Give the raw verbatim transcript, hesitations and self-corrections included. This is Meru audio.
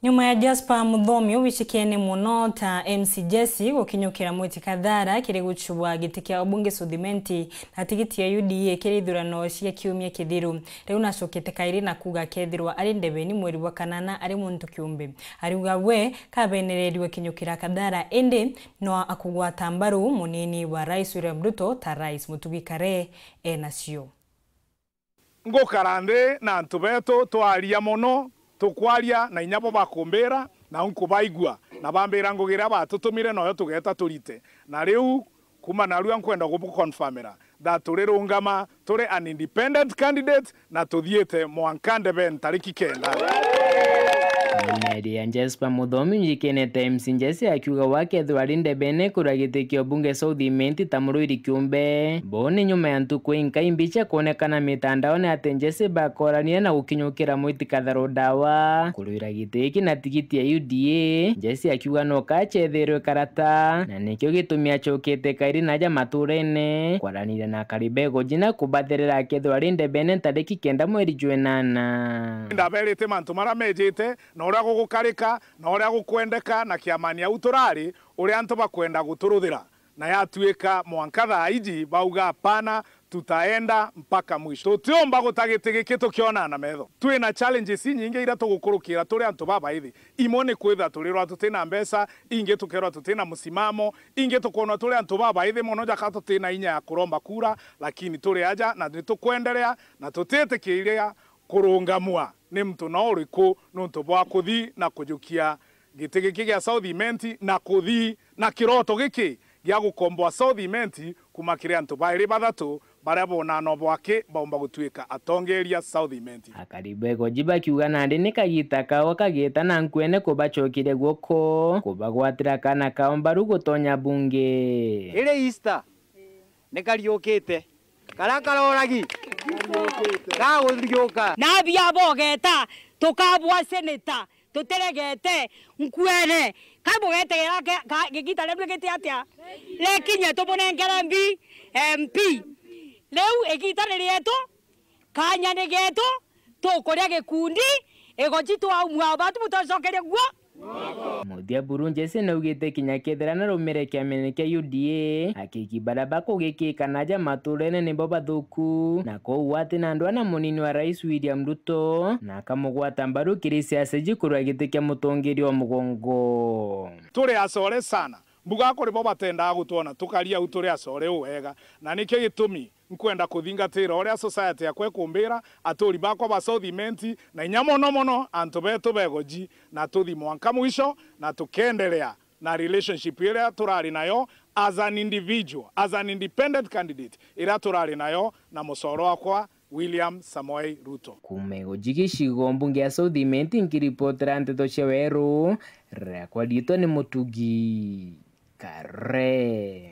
Nyuma ya Jasper Muthomi ubicikene muno ta M C Jesse gukinyukira Mweti Kathara kiri gucubwa giti kia ubunge South Imenti na tigiti ya U D A kiri ithurano cia kiumia kithiru, riu nacokete kairi na kuuga akethirwa ari ndebeni mweri bwa kanana ari muntu kiumbe. Ariuga we kabenererirwe kinyukira Kathara, indi no akugwata mbaru munini wa Rais William Ruto ta rais. Mutugi Kare enacio. Ngukara nthi na antu betu, twaria mono, tukwaria na inya bo bakumbira, na nkubaigua, na bambira ngugi iria batutumire, noyo tugeeta turite. Na riu, kuuma narua nkwenda gubuconfirmira that turirungama turi an independent candidate, na tuthiite mwanka ndebeni tariki kenda. Mary ya Jasper Muthomi njikene ta M C Jesse akiuga we akethirwa ari ndebene kuria giti kia ubunge South Imenti ta murwiri kiumbe. Bo ni nyuma ya ntuku inkai mbicha kuonekana mitandaone ati Jesse bakorania na gukinyukira Mwiti Kathara Dawa kurwira giti giki na tigiti ya U D A. Jesse akiuga no kacetherwe karata, na nikio gitumi acokete kairi naja maturene kwaraniria na akari ba Igoji na kubatherera akethirwa ari ndebene ntariki kenda mweri jwa inana. Ndaberite mantu maria mejite, na uria gugukarika, na uria gukwendeka, na kiamani au turari, uria antu bakwenda guturuthira. Na yatuika mwanka thaa iji bauga, "Hapana, tutaenda mpaka mwisho." Tutiumba guta giti giki tukionana na metho. Twina challenges inyingi iria tugukurukira turi antu babaithi. Imwe ni kwithirwa turirwa tutina mbeca, ingi tukerwa tutina musimamo, ingi tukwonwa turi antu babaithi mono jaka tutina inya ya kuromba kura, lakini turi aja na nitukwenderea na tutitikiria kurungamua ni muntu no uriku nuntu bwa kuthi na kujukia giti giki gia South Imenti na kuthi na kiroto giki gia gukomboa South Imenti kuuma kiri antu bairi bathatu baria bonana bwaki baumba gutuika atongeria South Imenti. Akari ba Igoji bakiuga nandi ni kagita kao kagita na nkwene kubacokeria guoko, kubagwatira kana kao mbaru gutonya bunge. Iri Easter, ni kariukite. Karia karoragi gaguthiuka. Nabi abo ogeta, tukabwa seneta, tutiregete, nkwene. Kai bugetegera ke-, ka-, gigita riu rigiti atia? Rikinye tumunengere mbi, M P. Riu igita ni rietu, kanya ni getu, tukuria gikundi, Igoji twaumua batu butocokeria guo. Muthia buru Jesse naugite kinya kethira narumire kiamene kia U D A, akiki baria bakugikika naja maturene nibo bathuku, na koguo ati na ndwaa na munini wa Rais William Ruto, na akamugwata mbaru kiri siasa iji kurwa giti kia mutongeria wa mugongo. Turi acore sana. Mbuga kuri bo batendaga gutwona tukaria au turi acore uu wega, na nikio gitumi nkwenda kuthingatira uria society yakwa ikumbira, aturi bakwa ba South Imenti, na inya mono mono antu betu ba Igoji, na tuthi mwanka mwisho, na tukenderea na relationship iria turari nayo as an individual, as an independent candidate, iria turari nayo na mucore wakwa William Samoei Ruto. Kuuma Igoji gicigo mbunge ya South Imenti, nkiripotera nteto cia Weru, riakwa riitwa ni Mutugi Kare.